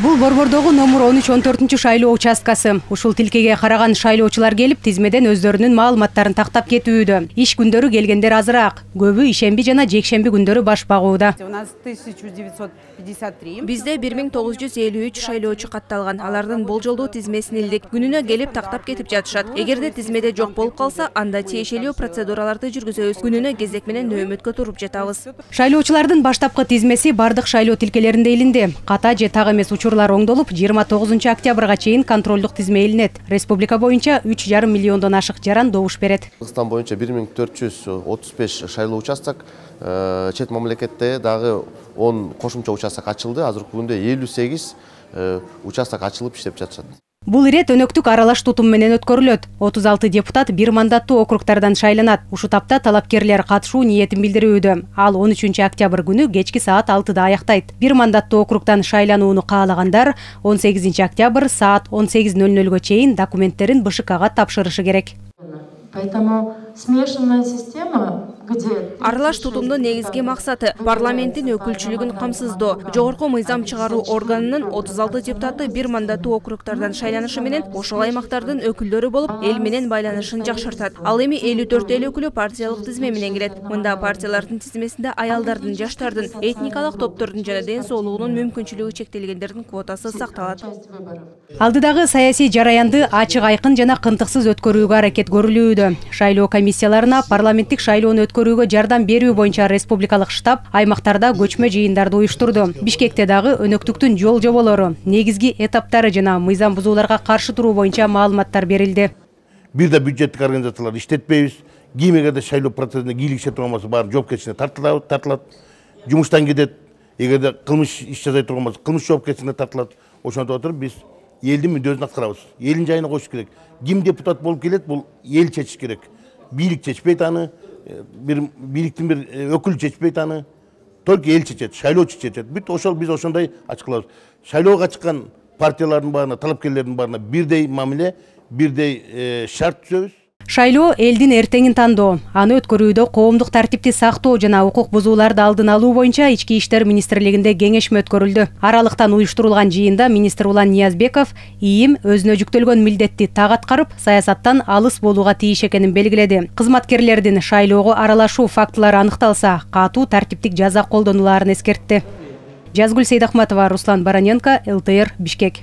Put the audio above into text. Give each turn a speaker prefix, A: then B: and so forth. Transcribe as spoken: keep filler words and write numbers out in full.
A: Бул Борбордогу номер он үч он төртүнчү шайлоо участкасы. Ушул тилкеге караган шайлоочулар келип, тизмеден өздөрүнүн маалыматтарын тактап кетүүдө. Иш күндөрү келгендер азыраак. Көбү ишемби жана жекшемби күндөрү баш багууда.
B: Бизде бир миң тогуз жүз элүү үч шайлоочу катталган. Алардын болжолдуу тизмесин илдик. Күнүнө келип тактап кетип жатышат. Эгерде тизмеде жок болуп калса, анда тиешелүү процедураларды жүргүзөбүз. Күнүнө кезек менен нөөмөткө туруп жатабыз.
A: Шайлоочулардын баштапкы тизмеси бардык шайлоо тилкелеринде илинди. Ката же так эмес учурлар оңдолуп, жыйырма тогузунчу октябрга чейин контролдук тизме илинет. Республика боюнча үч жарым миллиондон ашык жаран добуш берет.
C: Кыргызстан боюнча бир миң төрт жүз отуз беш шайлоо участок, чет мамлекетте дагы он кошумча участок ачылды. Азыркы күндө элүү сегиз участок ачылып иштеп жатышат.
A: Бул ирет өнөктүк аралаш тутум менен өткөрүлөт. отуз алты депутат бир мандаттуу округтардан шайланат. Ушу тапта талапкерлер катышуу ниетин билдирүүдө. Ал он үчүнчү октябрь күнү кечки саат алтыда аяктайт. Бир мандаттуу округтан шайланууну каалагандар он сегизинчи октябрь саат он сегиз ноль нольго чейин документтерин бэ ш кга тапшырышы керек.
D: Поэтому смешанная система, где
B: аралаш тутумдун негизги максаты парламенттин өкүлчүлүгүн камсыздоо. Жогорку мыйзам чыгаруу органынын отуз алты депутаты бир мандаттуу округтардан шайланышы менен ошол аймактардын өкүлдөрү болуп, эл менен байланышын жакшыртат. Ал эми элүү төрт эл өкүлү партиялык тизме менен келет. Мында партиялардын тизмесинде аялдардын, жаштардын, этникалык топтордун жана ден соолугунун мүмкүнчүлүгү чектелгендердин квотасы сакталат.
A: Алдыдагы саясий жараянды ачык, айкын жана кынтыксыз өткөрүүгө аракет көрүлүүдө. Шайлоо комиссияларына парламенттик шайлоону өткөрүүгө жардам берүү боюнча республикалык штаб аймактарда көчмө жыйындарды уюштурду. Бишкекте дагы өнөктүктүн жол жоболору, негизги этаптары жана мыйзам бузууларга каршы туруу боюнча маалыматтар берилди.
E: Бир да бюджеттик организацияларды иштетпейбиз. Кимге да шайлоо процессине кийлигише турган баары жоопкерчиликке тартылат, тартылат. Жумуштан кетет. Эгерде кылмыш иш жасай турган болсо, кылмыш жоопкерчиликке тартылат. Ошондой отуруп биз элдин мүддөсүн аткарабыз. Элдин жайына коюш керек. Ким депутат болуп келет, бул эл чечиш керек. Бийлик чечпейт аны, бир бийликтин бир өкүлү чечпейт аны. Только эл чечет, шайлоочу чечет. Бүт ошол биз ошондой ачыклабыз. Шайлоого чыккан партиялардын баарына, талапкерлердин баарына бирдей мамиле, бирдей шарт түзөбүз.
A: Шайлоо элдин эртеңин тандоо. Аны өткөрүүдө коомдук тартипти сактоо жана укук бузууларды алдын алуу боюнча Ички иштер министрлигинде кеңешме өткөрүлдү. Аралыктан уюштурулган жыйында министр Улан Ниязбеков ИИМ өзүнө жүктөлгөн милдетти так аткарып, саясаттан алыс болууга тийиш экенин белгиледи. Кызматкерлердин шайлоого аралашуу фактылары аныкталса, катуу тартиптик жаза колдонулаарын эскертти. Жазгүл Сейдахматова, Руслан Бараненко, эл тэ эр, Бишкек.